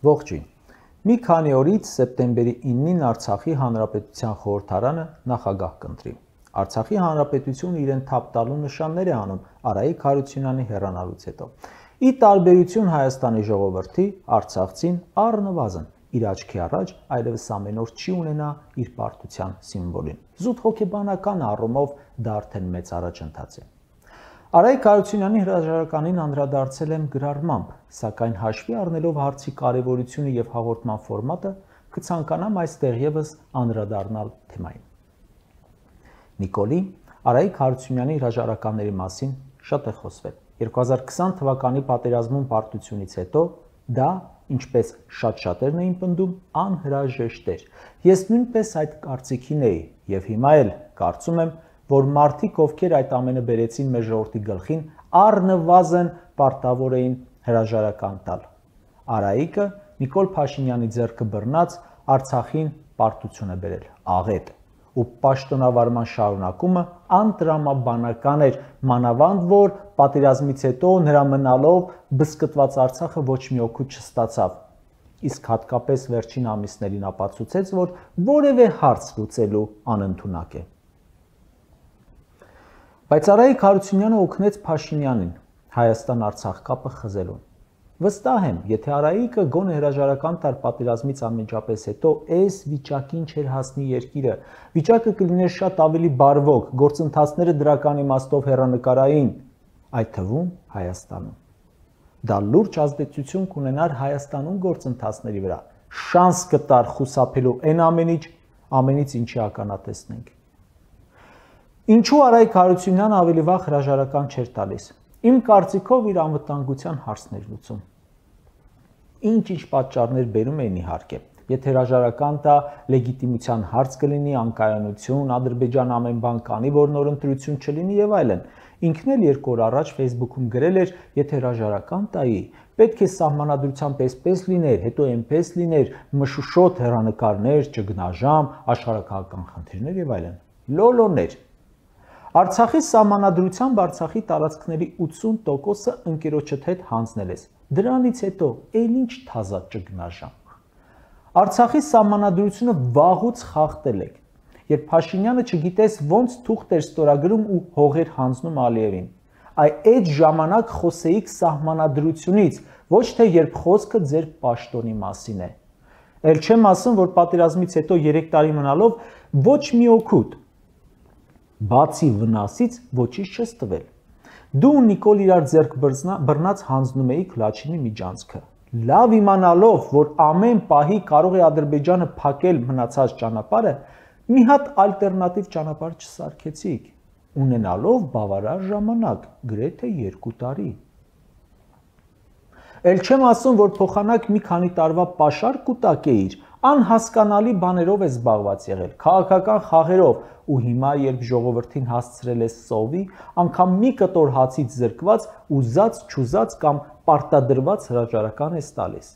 Ողջույն։ Մի քանի օրից սեպտեմբերի 9-ին Արցախի Հանրապետության խորհրդարանը նախագահ կընտրի։ Արցախի Հանրապետությունը իրեն թափ տալու նշաններ է անում Արայիկ Հարությունյանի հեռանալուց հետո։ Ի տարբերություն Հայաստանի ժողովրդի, արցախցին առնվազն իր աչքի առաջ այլևս ամեն օր չի ունենա իր պարտության սիմվոլին։ Զուտ հոգեբանական առումով դա արդեն մեծ առաջընթաց է։ Արայիկ Հարությունյանի հրաժարականին անդրադարձել եմ գրառմամբ, սակայն հաշվի առնելով հարցի կարևորությունը եւ հաղորդման ֆորմատը, կցանկանամ այստեղ եւս անդրադառնալ թեմային։ Նիկոլի Արայիկ Հարությունյանի հրաժարականների մասին շատ է խոսվել։ 2020 թվականի պատերազմում պարտությունից հետո դա, ինչպես շատ-շատերն էին պնդում, անհրաժեշտ էր։ Ես նույնպես այդ կարծիքին էի եւ հիմա էլ կարծում եմ, որ մարդիկ, ովքեր այդ ամենը բերեցին մեր ժողովրդի գլխին, առնվազն պարտավոր էին հրաժարական տալ։ Արայիկը Նիկոլ Փաշինյանի ձեռքը բռնած Արցախին պարտություն է բերել, աղետ, ու պաշտոնավարման շարունակումը անտրամաբանական էր, մանավանդ որ պատերազմից հետո նրա մնալով բզկտված Արցախը ոչ մի օգուտ չստացավ։ Իսկ հատկապես վերջին ամիսներին ապացուցեց, որ որևէ հարց լուծելու անընդունակ է։ Բայց Արայիկ Հարությունյանը օգնեց Փաշինյանին Հայաստան-Արցախ կապը խզելուն։ Վստահ եմ, եթե Արայիկը գոնե հրաժարական տար պատերազմից անմիջապես հետո այս վիճակին չէր հասնի երկիրը, վիճակը կլիներ շատ ավելի բարվոք, գործընթացները դրական իմաստով հեռանկարային, այդ թվում Հայաստանում։ Դա լուրջ ազդեցություն կունենար Հայաստանում գործընթացների վրա, շանս կտար խուսափելու այն ամենից ինչի ականատեսնենք։ Ինչու Արայիկ Հարությունյանը ավելի վաղ հրաժարական չէր տալիս։ Իմ կարծիքով իր անվտանգության հարցն էր լուծում։ Ինչ պատճառներ բերում էին իհարկե։ Եթե հրաժարական տա, լեգիտիմության հարց կլինի, անկայունություն, Ադրբեջան ամեն բան կանի, որ նոր ընտրություն չլինի եւ այլն։ Ինքն էլ 2 օր առաջ Facebook-ում գրել էր, եթե հրաժարական տայի, պետք է սահմանադրությամբ այսպես լիներ, հետո այնպես լիներ, մշուշոտ հեռանկարներ, ճգնաժամ, աշխարհակահաղական խնդիրներ եւ այլն։ Լոլոներ։ Արցախի սահմանադրությամբ Արցախի տարածքների 80%-ը ընկերոջդ հետ հանձնել ես։ Դրանից հետո ել ինչ թազա ճգնաժամ։ Արցախի սահմանադրությունը վաղուց խախտել եք։ Երբ Փաշինյանը չգիտես ոնց թուղթ էր ստորագրում ու հողեր հանձնում Ալիևին։ Այդ ժամանակ խոսեիք սահմանադրությունից, ոչ թե երբ խոսքը ձեր պաշտոնի մասին է։ Էլ չեմ ասում, որ պատերազմից հետո 3 տարի մնալով ոչ մի օգուտ բացի վնասից ոչինչ չես տվել։ Դու ու Նիկոլ իրար ձեռք բռնած հանձնում էիք Լաչինի միջանցքը։ Լավ իմանալով, որ ամեն պահի կարող է Ադրբեջանը փակել մնացած ճանապարհը, մի հատ ալտերնատիվ ճանապարհ չսարքեցիք, ունենալով բավարար ժամանակ, գրեթե 2 տարի։ Էլ չեմ ասում, որ փոխանակ մի քանի տարվա պաշար կուտակ էիր, անհասկանալի բաներով է զբաղված եղել, քաղաքական խաղերով, ու հիմա երբ ժողովրդին հասցրել ես սովի, անգամ մի կտոր հացից զրկված, ուզած-չուզած կամ պարտադրված հրաժարական ես տալիս։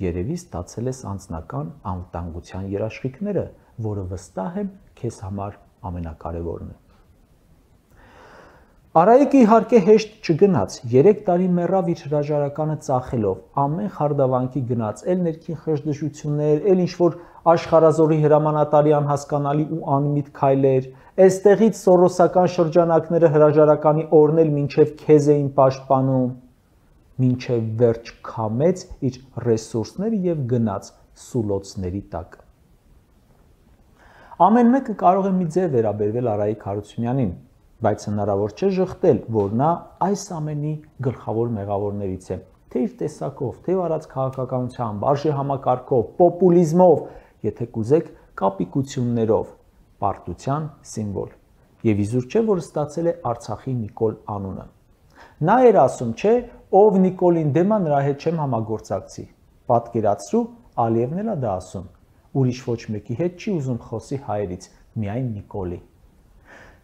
Երևի ստացել ես անձնական անվտանգության երաշխիքները, որը վստահ եմ քեզ համար ամենակարևորն է։ Արայիկը իհարկե հեշտ չգնաց, 3 տարի մեռավ իր հրաժարականը ծախելով, ամեն խարդավանքի գնաց, էլ ներքին խժդժություններ, էլ ինչ-որ աշխարհազորի հրամանատարի անհասկանալի ու անմիտ քայլեր, այստեղից սորոսական շրջանակները հրաժարականի օրն էլ մինչև քեզ էին պաշտպանում, մինչև վերջ քամեց իր ռեսուրսները եւ գնաց սուլոցների տակ։ Ամեն մեկը կարող է մի ձև վերաբերվել Արայիկ Հարությունյանին, բայց հնարավոր չէ ժխտել, որ նա այս ամենի գլխավոր մեղավորներից է, թե իր տեսակով, թե արած քաղաքականությամբ, արժեհամակարգով, պոպուլիզմով, եթե կուզեք, կապիկություններով, պարտության սիմվոլ։ Եվ իզուր չէ, որ ստացել է Արցախի Նիկոլ անունը։ Նա էր ասում, չէ, ով Նիկոլին դեմ է, նրա հետ չեմ համագործակցի։ Պատկերացրու, Ալիևն էլ է դա ասում։ Ուրիշ ոչ մեկի հետ չի ուզում խոսի հայերից, միայն Նիկոլի։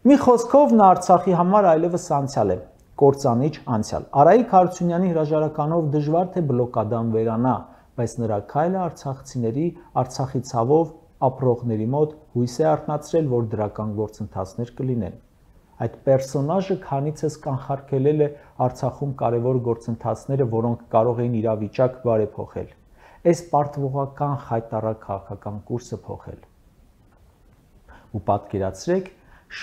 Մի խոսքով նա Արցախի համար այլևս անցյալ է, կործանիչ անցյալ։ Արայիկ Հարությունյանի հրաժարականով դժվար թե բլոկադան վերանա, բայց նրա քայլը արցախցիների, Արցախի ցավով ապրողների մոտ հույս է արթնացրել, որ դրական գործընթացներ կլինեն։ Այդ պերսոնաժը քանիցս կանխարգելել է Արցախում կարևոր գործընթացները, որոնք կարող էին իրավիճակ բարեփոխել։ այս պարտվողական խայտառակ քաղաքական կուրսը փոխել։ Ու պատկերացրեք,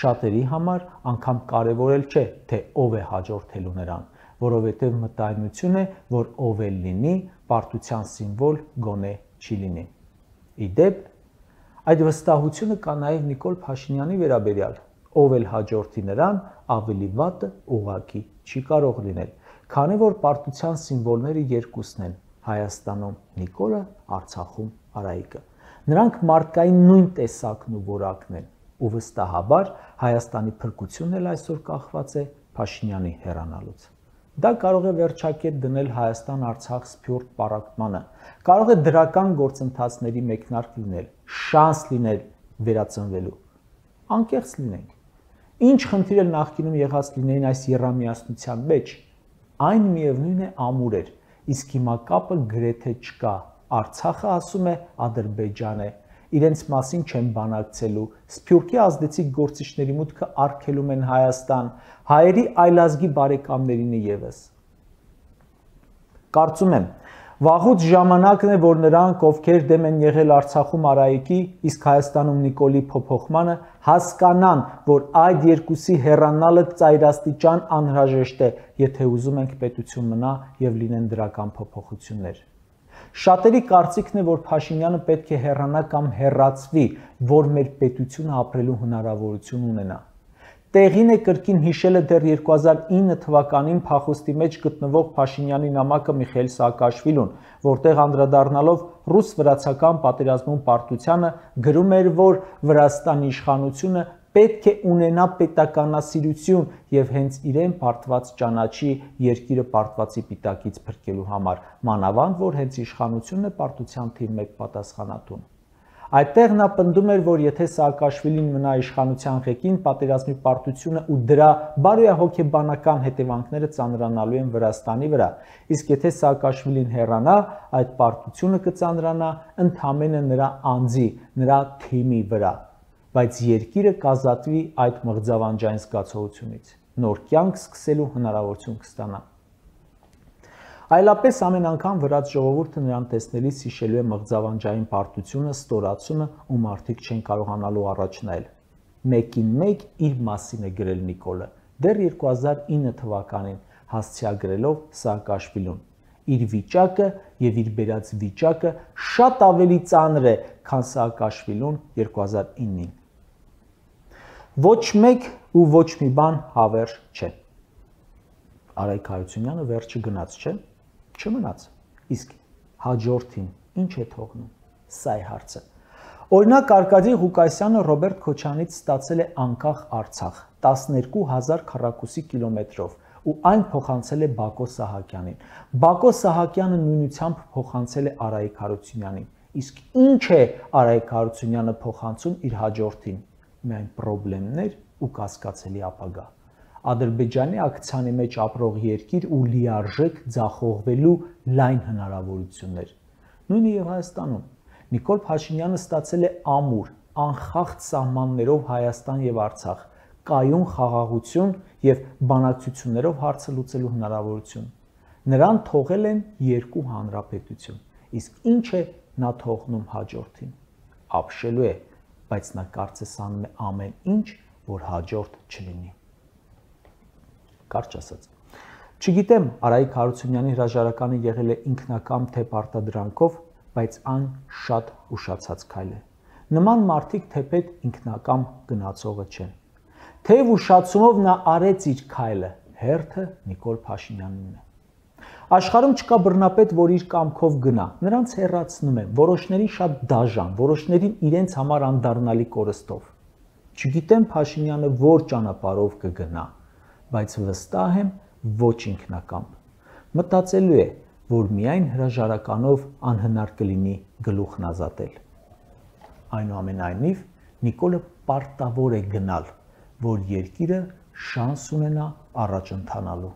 շատերի համար անգամ կարևորել չէ, թե ով է հաջորդելու նրան, որովհետև մտայնություն է, որ ով էլ լինի, պարտության սիմվոլ գոնե չի լինի։ Իդեպ, այդ վստահությունը կա նաև Նիկոլ Փաշինյանի վերաբերյալ, ով էլ հաջորդի նրան, ավելի վատը ուղղակի չի կարող լինել, քանի որ պարտության սիմվոլները երկուսն են, Հայաստանում Նիկոլը, Արցախում Արայիկը։ Նրանք մարդկային նույն տեսակն ու որակն են, ու վստահաբար Հայաստանի փրկությունն էլ այսօր կախված է Փաշինյանի հեռանալուց։ Դա կարող է վերջակետ դնել Հայաստան-Արցախ սփյուռք պառակտմանը, կարող է դրական գործընթացների մեկնարկ լինել, շանս լինել վերածնվելու։ Անկեղծ լինենք։ Ինչ խնդիր էլ նախկինում եղած լինեին այս եռամիասնության մեջ, այն միևնույն է ամուր էր, իսկ հիմա կապը գրեթե չկա։ Արցախը ասում է Ադրբեջան է, իրենց մասին չեն բանակցելու, սփյուռքի ազդեցիկ գործիչների մուտքը արգելում են Հայաստան, հայերի այլազգի բարեկամներին ևս։ Կարծում եմ, վաղուց ժամանակն է, որ նրանք, ովքեր դեմ են եղել Արցախում Արայիկի, իսկ Հայաստանում Նիկոլի փոփոխմանը, հասկանան, որ այդ երկուսի հեռանալը ծայրաստիճան անհրաժեշտ է, եթե ուզում ենք պետություն մնա եւ լինեն դրական փոփոխություններ։ Շատերի կարծիքն է, որ Փաշինյանը պետք է հեռանա կամ հեռացվի, որ մեր պետությունը ապրելու հնարավորություն ունենա։ Տեղին է կրկին հիշելը դեռ 2009 թվականին փախուստի մեջ գտնվող Փաշինյանի նամակը Միխայիլ Սաակաշվիլուն, որտեղ անդրադառնալով ռուս-վրացական պատերազմում պարտությանը գրում էր, որ Վրաստանի իշխանությունը պետք է ունենա պետականասիրություն եւ հենց իրեն պարտված ճանաչի երկիրը պարտվածի պիտակից փրկելու համար, մանավանդ որ հենց իշխանությունն է պարտության թիվ 1 պատասխանատուն։ Այդտեղ նա պնդում էր, որ եթե Սաակաշվիլին մնա իշխանության ղեկին, պատերազմի պարտությունը ու դրա բարոյահոգեբանական հետևանքները ծանրանալու են Վրաստանի վրա, իսկ եթե Սաակաշվիլին հեռանա, այդ պարտությունը կծանրանա ընդամենը նրա անձի, նրա թիմի վրա, բայց երկիրը կազատվի այդ մղձավանջային զգացողությունից, նոր կյանք սկսելու հնարավորություն կստանա։ Այլապես ամեն անգամ վրաց ժողովուրդը նրան տեսնելիս հիշելու է մղձավանջային պարտությունը, ստորացումը ու մարդիկ չեն կարողանալու առաջ նայել։ Մեկին մեկ իր մասին է գրել Նիկոլը, դեռ 2009 թվականին հասցեագրելով Սաակաշվիլուն։ Իր վիճակը եւ իր բերած վիճակը շատ ավելի ծանր է, քան Սաակաշվիլուն 2009-ին։ Ոչ մեկ ու ոչ մի բան հավերժ չէ։ Արայիկ Հարությունյանը վերջը գնաց, չէ՞։ Չմնաց։ Իսկ հաջորդին ինչ է թողնում։ Սա է հարցը։ Օրինակ Արկադի Ղուկասյանը Ռոբերտ Քոչանից ստացել է անկախ Արցախ 12000 քառակուսի կիլոմետրով ու այն փոխանցել է Բակո Սահակյանին։ Բակո Սահակյանը նույնությամբ փոխանցել է Արայիկ Հարությունյանին։ Իսկ ինչ է Արայիկ Հարությունյանը փոխանցում իր հաջորդին։ Միայն պրոբլեմներ ու կասկածելի ապագա։ Ադրբեջանի ակցիանի մեջ ապրող երկիր ու լիարժեք ձախողվելու լայն հնարավորություններ։ Նույնը եւ Հայաստանում։ Նիկոլ Փաշինյանը ստացել է ամուր, անխախտ սահմաններով Հայաստան եւ Արցախ, կայուն խաղաղություն եւ բանակցություններով հարցը լուծելու հնարավորություն։ Նրան թողել են երկու հանրապետություն։ Իսկ ինչ է նա թողնում հաջորդին։ Ապշելու է, բայց նա կարծես անում է ամեն ինչ, որ հաջորդ չլինի։ Կարճ ասած։ Չգիտեմ, Արայիկ Հարությունյանի հրաժարականը եղել է ինքնակամ թե պարտադրանքով, բայց այն շատ ուշացած քայլ է։ Նման մարդիկ թեպետ ինքնակամ գնացողը չեն։ Թեև ուշացումով նա արեց իր քայլը, հերթը Նիկոլ Փաշինյանին է։ Աշխարհում չկա բռնապետ, որ իր կամքով գնա, նրանց հեռացնում են, որոշներին շատ դաժան, որոշներին իրենց համար անդառնալի կորստով։ Չգիտեմ Փաշինյանը որ ճանապարհով կգնա, բայց վստահ եմ ոչ ինքնակամբ։ Մտածելու է, որ միայն հրաժարականով անհնար կլինի գլուխն ազատել։ Այնուամենայնիվ, Նիկոլը պարտավոր է գնալ, որ երկիրը շանս ունենա առաջ ընթանալու։